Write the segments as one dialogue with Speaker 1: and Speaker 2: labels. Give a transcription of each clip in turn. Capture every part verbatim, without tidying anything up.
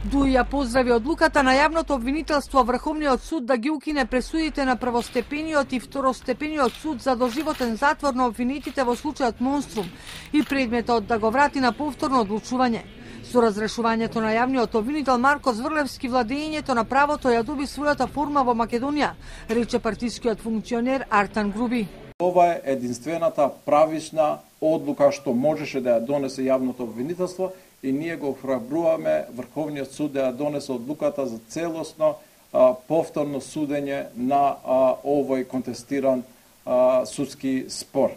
Speaker 1: Дуи ја поздрави одлуката на јавното обвинителство Врховниот суд да ги укине пресудите на првостепениот и второстепениот суд за доживотен затвор на обвинетите во случајот Монструм и предметот да го врати на повторно одлучување. Со разрешувањето на јавниот обвинител Марко Зврлевски, владењето на правото ја доби својата форма во Македонија, рече партискиот функционер Артан Груби.
Speaker 2: Ова е единствената правична одлука што можеше да ја донесе јавното обвинителство и ние го охрабруваме Врховниот суд да ја донесе одлуката за целосно а, повторно судење на а, овој контестиран а, судски спор.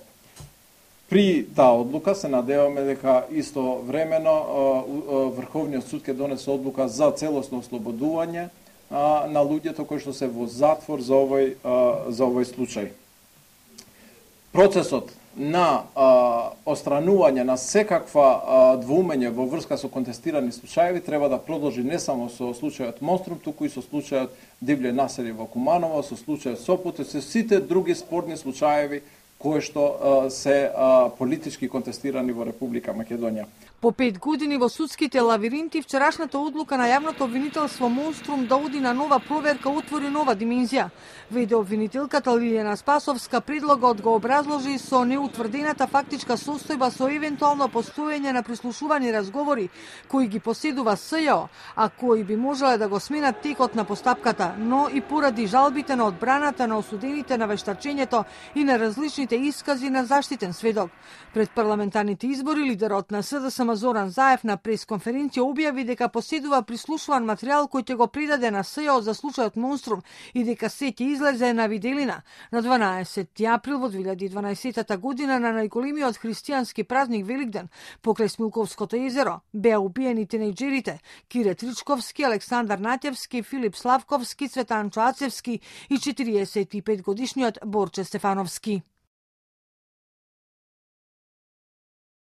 Speaker 2: При таа одлука се надеваме дека исто времено а, а, Врховниот суд ќе донесе одлука за целосно ослободување а, на луѓето кои што се во затвор за овој а, за овој случај. Процесот на а, остранување на секаква а, двоумење во врска со контестирани случаеви треба да продолжи не само со случајот Монструм, туку и со случајот Дивле населје во Куманово, со случајот Сопот и со сите други спорни случаеви кои што а, се а, политички контестирани во Република Македонија.
Speaker 1: По пет години во судските лавиринти, вчерашната одлука на јавното обвинителство Монструм да оди на нова проверка отвори нова димензија. Веде обвинителката Лилијана Спасовска, предлогот го образложи со неутврдената фактичка состојба со евентуално постоење на прислушувани разговори кои ги поседува СЈО, а кои би можеле да го сменат текот на постапката, но и поради жалбите на одбраната на осудените на вештачењето и на различните искази на заштитен сведок. Пред парламентарните избори лидерот на СДСМ Зоран Заев на пресконференција објави дека поседува прислушуван материјал кој ќе го предаде на СЈО за случајот Монструм и дека се ќе излезе на виделина. На дванаесети април во две илјади и дванаесета година на најголемиот христијански празник Великден покрај Смилковското езеро беа убиени тинејџерите Кире Тричковски, Александар Натјевски, Филип Славковски, Цветан Чоацевски и четириесет и пет годишниот Борче Стефановски.